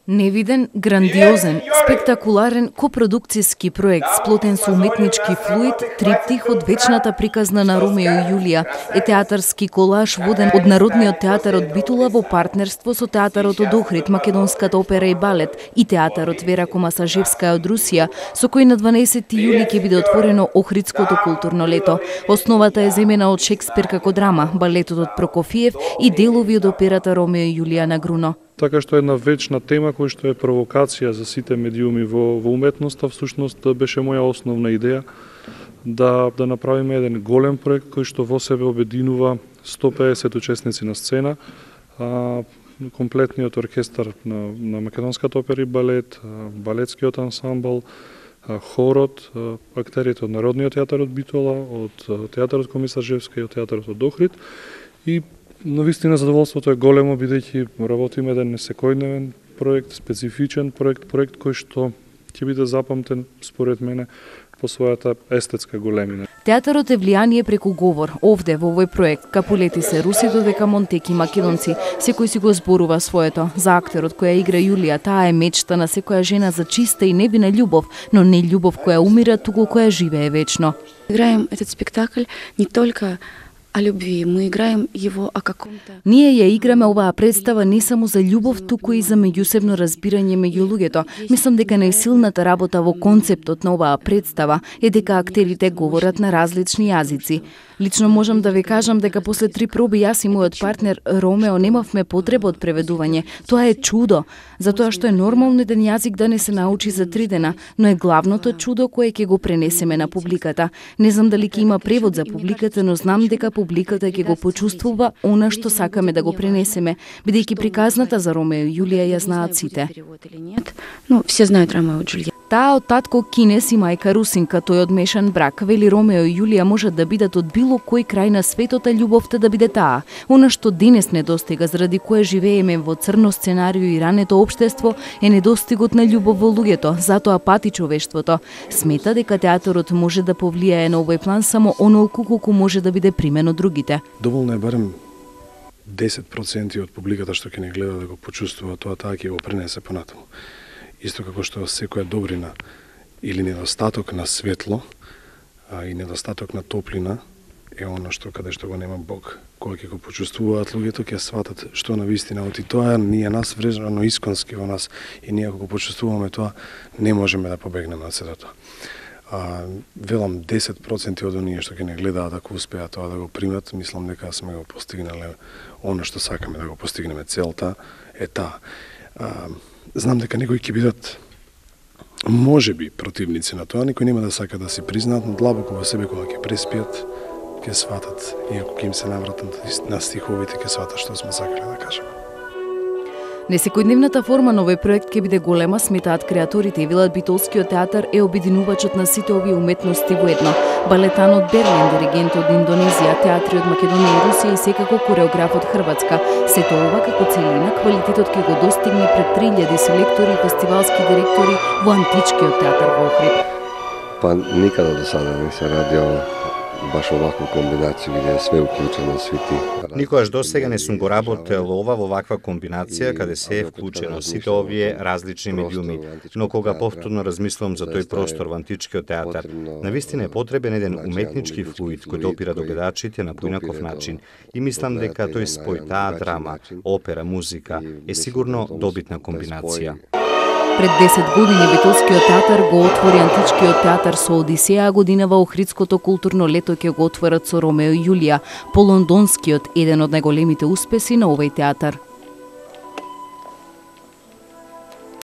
Невиден, грандиозен, спектакуларен копродукцијски проект сплотен со уметнички флуид, триптих од вечната приказна на Ромео и Јулија е театарски колаж воден од Народниот театар од Битола во партнерство со Театарот од Охрид, Македонската опера и балет и Театарот Вера Комасажевска од Русија, со кој на 12 јули ќе биде отворено Охридското културно лето. Основата е земена од Шекспир како драма, балетот од Прокофиев и делови од операта Ромео и Јулија на Груно. Така што една вечна тема која што е провокација за сите медиуми во уметноста, всушност беше моја основна идеја да направиме еден голем проект кој што во себе обединува 150 учесници на сцена, комплетниот оркестар на Македонската опера и балет, балетскиот ансамбл, хорот, актерите од Народниот театар од Битола, од Театарот Комасажевска и од Театарот од Охрид. И навистина задоволството е големо, бидејќи работиме еден несекојдневен проект, специфичен проект кој што ќе биде запамтен, според мене, по својата естетска големина. Театарот е влијание преку говор. Овде, во овој проект, капулети се руси додека монтеки македонци. Секој си го зборува своето. За актерот која игра Јулија, таа е мечта на секоја жена за чиста и невина љубов, но не љубов која умира, туку која живее вечно. Играем этот спектакль не только о любви, мы играем его о каком-то... Ние ја играме оваа представа не само за љубов, туку и за меѓусебно разбирање меѓу луѓето. Мислам дека најсилната работа во концептот на оваа представа е дека актерите говорат на различни јазици. Лично можам да ви кажам дека после 3 проби јас и мојот партнер Ромео немавме потреба од преведување. Тоа е чудо, затоа што е нормално еден јазик да не се научи за 3 дена, но е главното чудо кое ќе го пренесеме на публиката. Не знам дали ќе има превод за публиката, но знам дека публиката ќе го почувствува она што сакаме да го пренесеме, бидејќи приказната за Ромео и Јулија ја знаат сите. Ну, все знаат Ромео и Џулијета. Таа од татко кинес и мајка русинка, тој од мешан брак. Вели Ромео и Јулија можат да бидат од било кој крај на светот, а љубовта да биде таа. Она што денес недостига, заради кое живееме во црно сценарио и рането општество, е недостигот на љубов во луѓето, затоа пати човештвото. Смета дека театарот може да повлијае на овој план само онолку колку може да биде примен од другите. Доволно е барем 10% од публиката што ќе не гледа да го почувствува тоа, таа ќе го пренесе понатаму. Исто како што секоја добрина или недостаток на светло и недостаток на топлина е оно што каде што го нема Бог. Кога ќе го почувствуваат луѓето, ќе сватат што на вистина оти тоа ние нас врежано исконски во нас и ние кога го почувствуваме тоа не можеме да побегнеме од сето тоа. Велам 10% од оние што ќе не гледаат, ако успеат тоа да го примат, мислам дека сме го постигнале оно што сакаме да го постигнеме. Целта е таа. Знам дека некои ќе бидат можеби противници на тоа, никој нема да сака да си признаат, но длабоко во себе кога ќе преспиат, ќе сватат, иако ќе им се навратат на стиховите, ќе сватат што сме сакале да кажеме. Несекојдневната форма на овој проект ќе биде голема, сметаат креаторите и велат Битолскиот театар е обединувачот на сите овие уметности во едно. Балетан од Берлин, диригент од Индонезија, театри од Македонија и Русија и секако кореограф од Хрватска. Сето ова како целина, квалитетот ќе го достигне пред 3000 селектори и фестивалски директори во Античкиот театар во Охрид. Па никада до сада не се радио баш оваква комбинација где е све уклучено, сите. Никогаш досега не сум го работел ова во ваква комбинација каде се е вклучено сите овие различни медиуми, но кога повторно размислувам за тој простор во Античкиот театар, навистина е потребен еден уметнички флуид кој допира до гледачите на поинаков начин и мислам дека тој спој таа драма, опера, музика е сигурно добитна комбинација. Пред 10 години Битолскиот театар го отвори Античкиот театар со Одисеја, годинава Охридското културно лето ќе го отворат со Ромео и Јулија, по лондонскиот, еден од најголемите успеси на овој театар.